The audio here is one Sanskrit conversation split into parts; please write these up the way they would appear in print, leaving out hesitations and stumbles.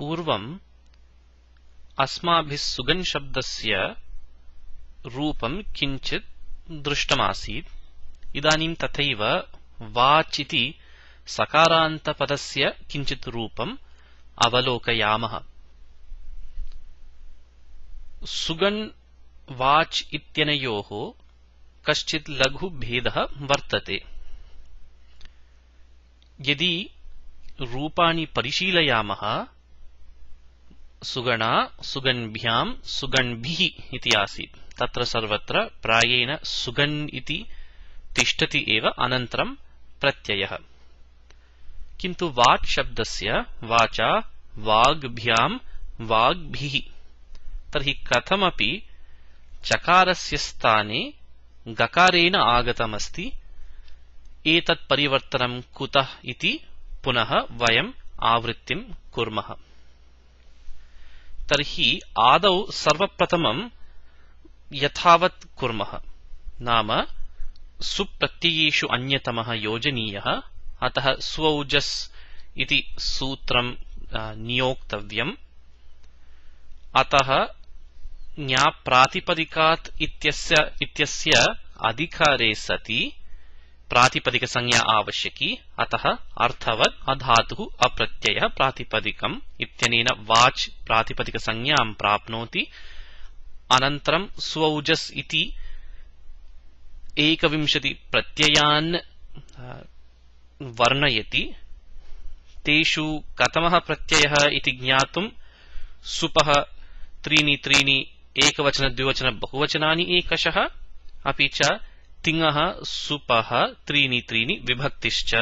पूर्वम् अस्माभिः सुगन् शब्दस्य रूपं किञ्चित् दृष्टमासीत्। इदानीं तथैव वाच् इति सकारान्तपदस्य किञ्चित् रूपम् अवलोकयामः। सुगन् वाच् इत्यनयोः कश्चित् लघु भेदः वर्तते। यदि रूपाणि परिशीलयामः, सुगणा सुगन्भ्यां सुगन्भिः इति आसीत्। तत्र सर्वत्र प्रायेण सुगन् इति तिष्ठति एव, अनन्तरं प्रत्ययः। किन्तु वाच् शब्दस्य वाचा वाग्भ्यां वाग्भिः। तर्हि कथमपि चकारस्य स्थाने गकारेण आगतमस्ति। एतत् परिवर्तनं कुतः इति पुनः वयम् आवृत्तिं कुर्मः। तर्हि आदौ सर्वप्रथमं यथावत् कुर्मः, नाम सुप्रत्ययेषु अन्यतमः योजनीयः। अतः स्वौजस् इति सूत्रं नियोक्तव्यम्। अतः ञाप्रातिपदिकात् इत्यस्य अधिकारे सति प्रातिपदिकसंज्ञा आवश्यकी। अतः अर्थवत् अधातुः अप्रत्ययः प्रातिपदिकम् इत्यनेन वाच् प्रातिपदिकसंज्ञां प्राप्नोति। अनन्तरं स्वौजस् इति 21 प्रत्ययान् वर्णयति। तेषु कथमः प्रत्ययः इति ज्ञातुं सुपः त्रीणि त्रीणि एकवचन द्विवचन बहुवचनानि एकशः, अपि च तिङः सुपः त्रीणि त्रीणि विभक्तिश्च।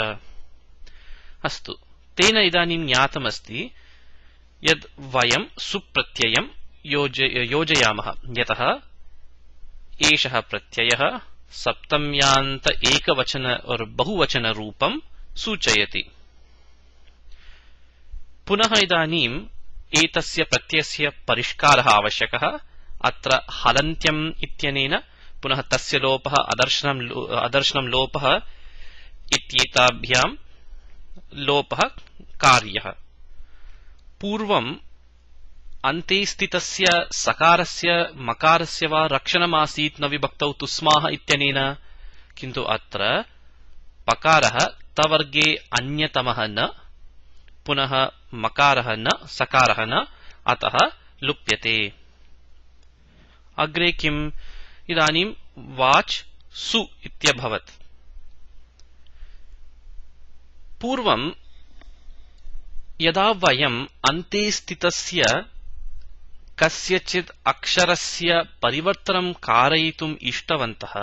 अस्तु, तेन इदानीं ज्ञातमस्ति यद् वयं सुप्रत्ययं योजयामः, यतः एषः प्रत्ययः सप्तम्यान्त एकवचन और बहुवचन रूपं सूचयति। पुनः इदानीम् एतस्य प्रत्ययस्य परिष्कारः आवश्यकः। अत्र हलन्त्यम् इत्यनेन पुनः तस्य लोपः अदर्शनं लोपः इत्येताभ्यां लोपः कार्यः। पूर्वम् अन्ते स्थितस्य सकारस्य मकारस्य वा रक्षणमासीत् न विभक्तौ तुस्माः इत्यनेन, किन्तु अत्र पकारः तवर्गे अन्यतमः न, पुनः मकारः न, सकारः न, अतः लुप्यते। अग्रे किम्? इदानीं वाच् सु इत्यभवत्। पूर्वं यदा वयम् अन्ते स्थितस्य कस्यचित् अक्षरस्य परिवर्तनं कारयितुम् इष्टवन्तः,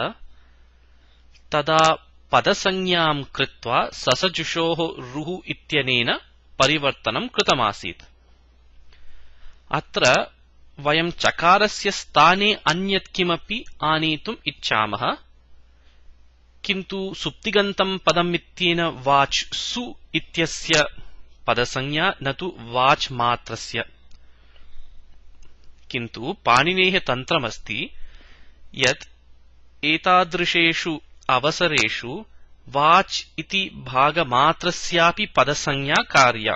तदा पदसंज्ञां कृत्वा ससजुषोः रुः इत्यनेन परिवर्तनं कृतमासीत्। अत्र वयं चकारस्य स्थाने अन्यत् किमपि आनेतुम् इच्छामः, किन्तु सुप्तिगन्तं पदम् इत्येन वाच् सु इत्यस्य पदसंज्ञा न तु वाच् मात्रस्य। किन्तु पाणिनेः तन्त्रमस्ति यत् एतादृशेषु अवसरेषु वाच् इति भागमात्रस्यापि पदसंज्ञा कार्या।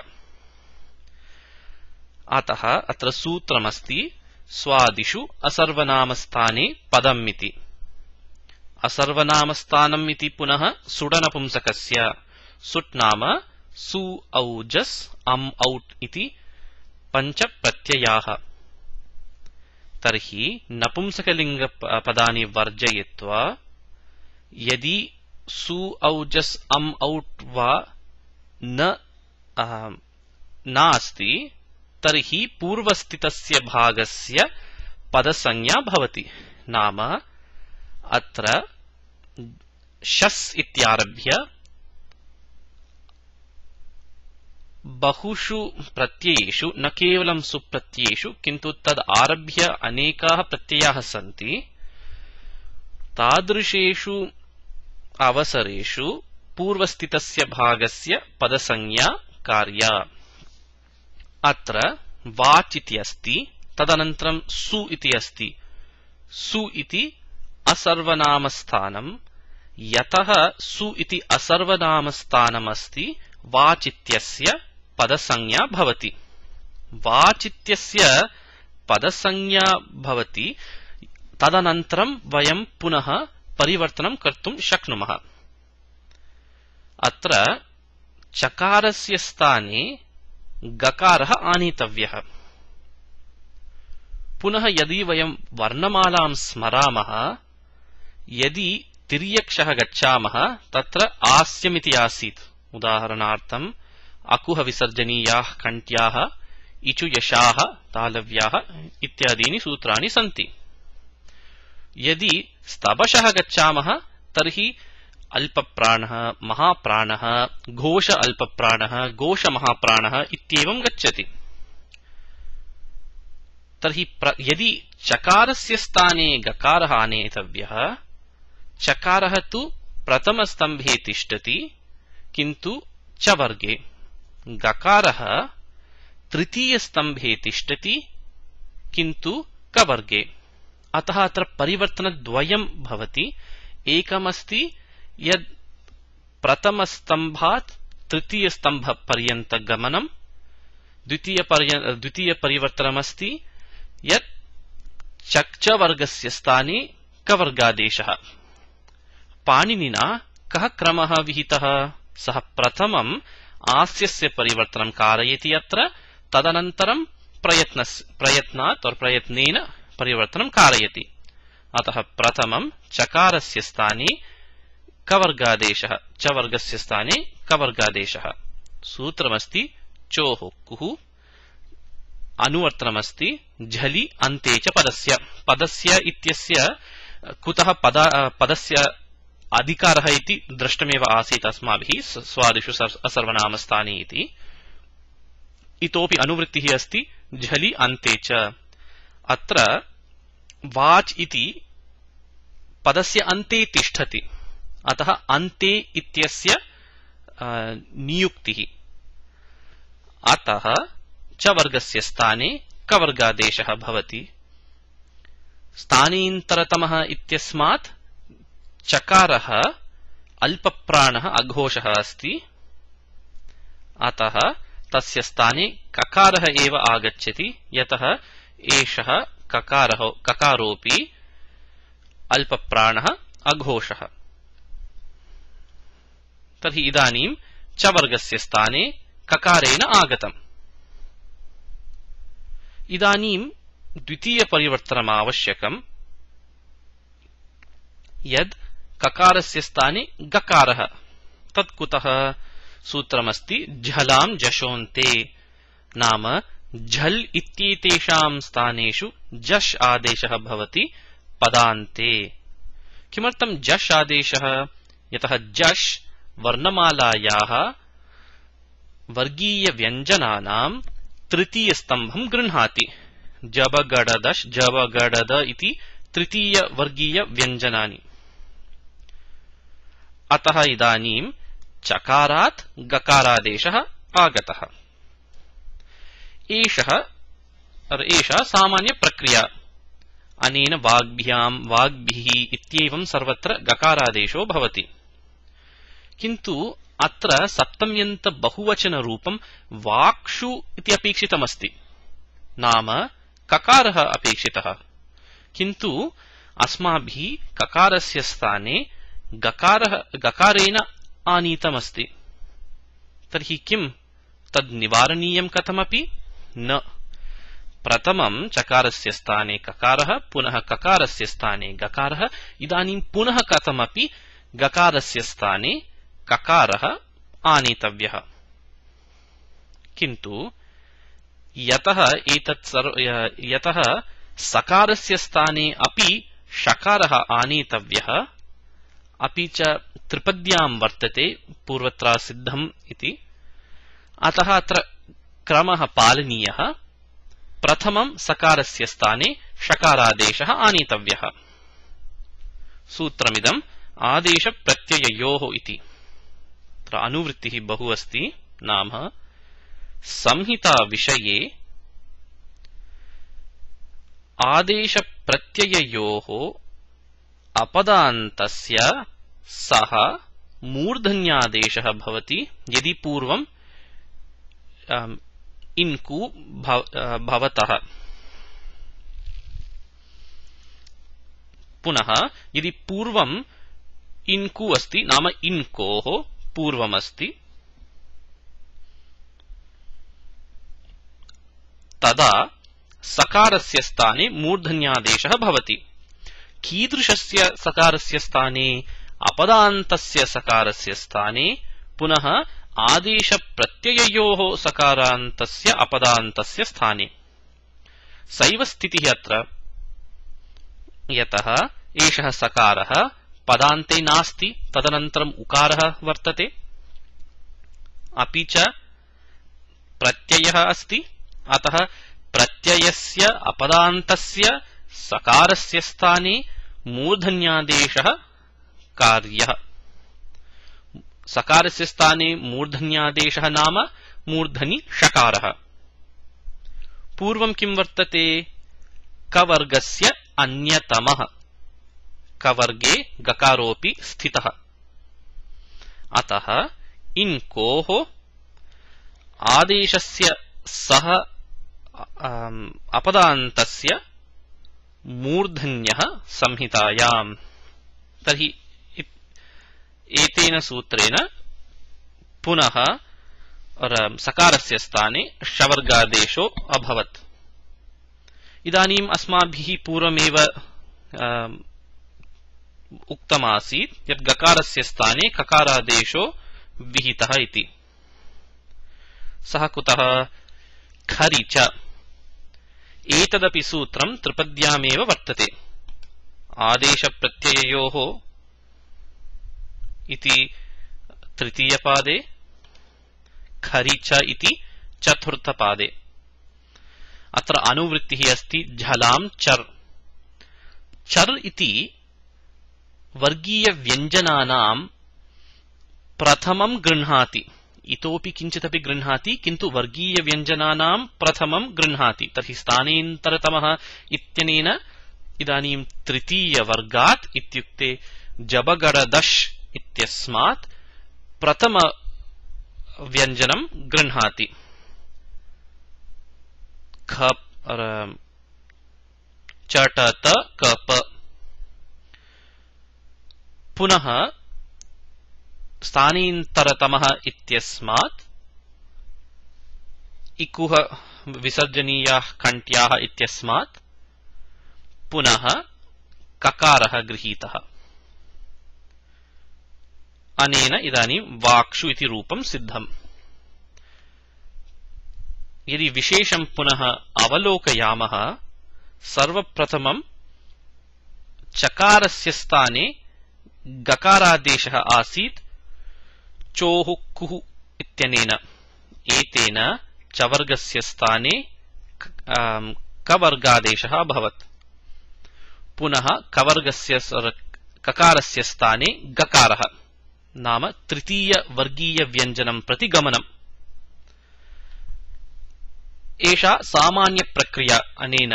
अतः अत्र सूत्रमस्ति स्वादिषु असर्वनामस्थाने पदम् इति। असर्वनामस्थानम् इति पुनः सुडनपुंसकस्य। सुट् नाम सु औजस् अम् औट् इति 5 प्रत्ययाः। तर्हि नपुंसकलिङ्गपदानि वर्जयित्वा यदि सु औजस् अम् औट् वा नास्ति, तर्हि पूर्वस्थितस्य भागस्य पदसंज्ञा भवति। नाम अत्र शस् इत्यारभ्य बहुषु प्रत्ययेषु, न केवलं सुप्रत्ययेषु, किन्तु तद् आरभ्य अनेकाः प्रत्ययाः सन्ति। तादृशेषु अवसरेषु पूर्वस्थितस्य भागस्य पदसंज्ञा कार्या। अत्र वाच् इति अस्ति, तदनन्तरं सु इति अस्ति। सु इति असर्वनामस्थानं। यतः सु इति असर्वनामस्थानमस्ति, वाच् इत्यस्य पदसंज्ञा भवति। वाचित्यस्य पदसंज्ञा भवति तदनन्तरं वयं पुनः परिवर्तनं कर्तुं शक्नुमः। अत्र चकारस्य स्थाने गकारः आनेतव्यः। पुनः यदि वयं वर्णमालां स्मरामः, यदि तिर्यक्षः गच्छामः तत्र आस्यमिति आसीत्। उदाहरणार्थम् अकुह विसर्जनीयाः कण्ठ्याः इचु यशाः तालव्याः इत्यादीनि सूत्राणि सन्ति। यदि स्तबशः गच्छामः तर्हि अल्पप्राणः महाप्राणः घोष अल्पप्राणः घोष महाप्राणः इत्येवं गच्छति। तर्हि यदि चकारस्य स्थाने गकारः आनेतव्यः, चकारः तु प्रथमस्तम्भे तिष्ठति किन्तु च वर्गे, गकारः तृतीयस्तम्भे तिष्ठति किन्तु क वर्गे। अतः अत्र परिवर्तनद्वयं भवति। एकमस्ति यद् प्रथमस्तम्भात् तृतीयस्तम्भपर्यन्तगमनं, द्वितीयपरिवर्तनमस्ति यत् च वर्गस्य स्थाने कवर्गादेशः। पाणिनिना कः क्रमः विहितः? सः प्रथमम् आस्यस्य परिवर्तनं कारयति अत्र, तदनन्तरं प्रयत्नात् और प्रयत्नेन परिवर्तनं कारयति। अतः प्रथमं चकारस्य स्थाने कवर्गादेशः, च वर्गस्य स्थाने कवर्गादेशः। सूत्रमस्ति चोः कुः, अनुवर्तनमस्ति झलि अन्ते च पदस्य। पदस्य इत्यस्य कुतः पदस्य अधिकारः इति दृष्टमेव आसीत् अस्माभिः स्वादिषु असर्वनामस्थाने इति। इतोपि अनुवृत्तिः अस्ति झलि अन्ते च। अत्र वाच् इति पदस्य अन्ते तिष्ठति, अतः अन्ते इत्यस्य नियुक्तिः। अतः च वर्गस्य स्थाने कवर्गादेशः भवति। स्थानेन्तरतमः इत्यस्मात् चकारः अल्पप्राणः अघोषः अस्ति, अतः तस्य स्थाने ककारः एव आगच्छति, यतः एषः ककारोऽपि अल्पप्राणः अघोषः। तर्हि इदानीं च वर्गस्य स्थाने ककारेण आगतम्। इदानीं द्वितीयपरिवर्तनमावश्यकम्, यद् ककारस्य स्थाने गकारः। तत् कुतः? सूत्रमस्ति झलां जशोन्ते, नाम झल् इत्येतेषां स्थानेषु जश् आदेशः भवति पदान्ते। किमर्थं जश् आदेशः? यतः जश् वर्णमालायाः वर्गीयव्यञ्जनानां तृतीयस्तम्भं गृह्णाति। जबगडदश् जबगडद इति तृतीयवर्गीयव्यञ्जनानि। अतः इदानीं चकारात् गकारादेशः आगतः। एषा सामान्यप्रक्रिया। अनेन वाग्भिः इत्येवं सर्वत्र गकारादेशो भवति। किन्तु अत्र सप्तम्यन्त बहुवचनरूपं वाक्षु इति अपेक्षितमस्ति, नाम ककारः अपेक्षितः। किन्तु अस्माभिः ककारस्य स्थाने गकारेण आनीतमस्ति। तर्हि किं तद् निवारणीयं कथमपि न। प्रथमं चकारस्य स्थाने ककारः, पुनः ककारस्य स्थाने गकारः, इदानीं पुनः कथमपि गकारस्य स्थाने ककारः आनेतव्यः। किन्तु यतः सकारस्य स्थाने अपि षकारः आनेतव्यः, अपि च त्रिपद्यां वर्तते पूर्वत्र सिद्धम् इति, अतः अत्र क्रमः पालनीयः। प्रथमं सकारस्य स्थाने षकारादेशः आनेतव्यः। सूत्रमिदम् आदेशप्रत्यययोः इति। अत्र अनुवृत्तिः बहु अस्ति, नाम संहिता विषये आदेशप्रत्यययोः अपदान्तस्य सः मूर्धन्यादेशः भवति, यदि पूर्वं इन्कु भवतः। पुनः यदि पूर्वम् इन्कु अस्ति नाम इन्कोः पूर्वमस्ति तदा सकारस्य स्थाने मूर्धन्यादेशः भवति। कीदृशस्य सकारस्य स्थाने? अपदान्तस्य सकारस्य स्थाने, पुनः आदेशप्रत्यययोः सकारान्तस्य अपदान्तस्य स्थाने। सैव स्थितिः अत्र, यतः एषः सकारः पदान्ते नास्ति, तदनन्तरम् उकारः वर्तते, अपि च प्रत्ययः अस्ति, अतः प्रत्ययस्य अपदान्तस्य सकारस्य स्थाने मूर्धन्यादेशः कार्यः। सकारस्य स्थाने मूर्धन्यादेशः नाम मूर्धनि षकारः। पूर्वं किं वर्तते? कवर्गस्य अन्यतमः, कवर्गे गकारोऽपि स्थितः। अतः इन्कोः आदेशस्य सह अपदान्तस्य मूर्धन्यः संहितायाम्। तर्हि एतेन सूत्रेण पुनः सकारस्य स्थाने शवर्गादेशो अभवत्। इदानीम् अस्माभिः पूर्वमेव उक्तमासीत् यत् गकारस्य स्थाने ककारादेशो विहितः इति। सः कुतः? खरि च। एतदपि सूत्रं त्रिपद्यामेव वर्तते। आदेशप्रत्यययोः इति तृतीयपादे, खरि च इति चतुर्थपादे। अत्र अनुवृत्तिः अस्ति झलां चर्। चर् इति वर्गीयव्यञ्जनानां प्रथमं गृह्णाति, इतोपि किञ्चिदपि गृह्णाति, किन्तु वर्गीयव्यञ्जनानां प्रथमं गृह्णाति। तर्हि स्थानेन्तरतमः इत्यनेन इदानीं तृतीयवर्गात् इत्युक्ते जबगडदश् इत्यस्मात् प्रथमव्यञ्जनं गृह्णाति। ख चटत कप। पुनः स्थानेन्तरतमः इत्यस्मात् इकुः विसर्जनीयाः कण्ठ्याः इत्यस्मात् पुनः ककारः गृहीतः। अनेन इदानीं वाक्षु इति रूपं सिद्धम्। यदि विशेषं पुनः अवलोकयामः, सर्वप्रथमं चकारस्य स्थाने गकारादेशः आसीत् चोः कुः इत्यनेन। एतेन चवर्गस्य स्थाने कवर्गादेशः अभवत्। पुनः कवर्गस्य ककारस्य स्थाने गकारः नाम तृतीयवर्गीयव्यञ्जनं प्रति गमनम्। एषा सामान्यप्रक्रिया। अनेन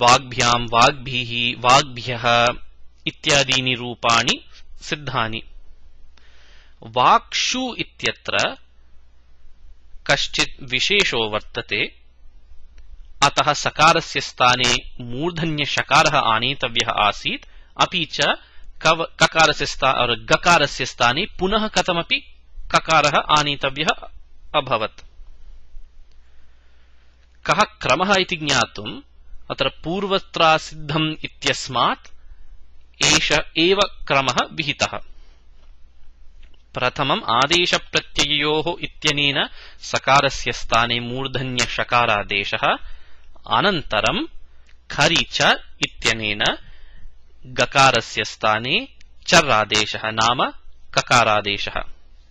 वाग्भ्यां वाग्भिः वाग्भ्यः इत्यादीनि रूपाणि सिद्धानि। वाक्षु इत्यत्र कश्चित् विशेषो वर्तते। अतः सकारस्य स्थाने मूर्धन्यषकारः आनेतव्यः आसीत्, अपि च गकारस्य स्थाने पुनः कथमपि ककारः आनेतव्यः अभवत्। कः क्रमः इति ज्ञातुम् अत्र पूर्वत्रासिद्धम् इत्यस्मात् एष एव क्रमः विहितः। प्रथमम् आदेशप्रत्यययोः इत्यनेन सकारस्य स्थाने मूर्धन्यषकारादेशः, अनन्तरं खरि च इत्यनेन गकारस्य स्थाने चर्रादेशः नाम ककारादेशः।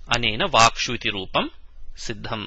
अनेन वाक्षु इति रूपं सिद्धम्।